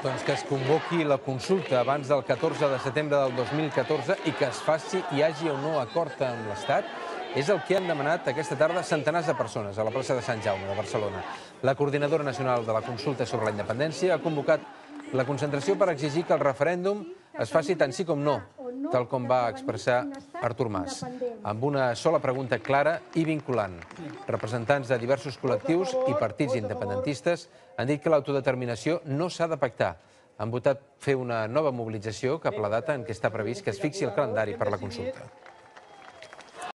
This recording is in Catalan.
Doncs que es convoqui la consulta abans del 14 de setembre del 2014 i que es faci hi hagi o no acord amb l'Estat és el que han demanat aquesta tarda centenars de persones a la plaça de Sant Jaume de Barcelona. La Coordinadora Nacional de la Consulta sobre la Independència ha convocat la concentració per exigir que el referèndum es faci tant sí com no, tal com va expressar Artur Mas, amb una sola pregunta clara i vinculant. Representants de diversos col·lectius i partits independentistes han dit que l'autodeterminació no s'ha de pactar. Han votat fer una nova mobilització cap a la data en què està previst que es fixi el calendari per la consulta.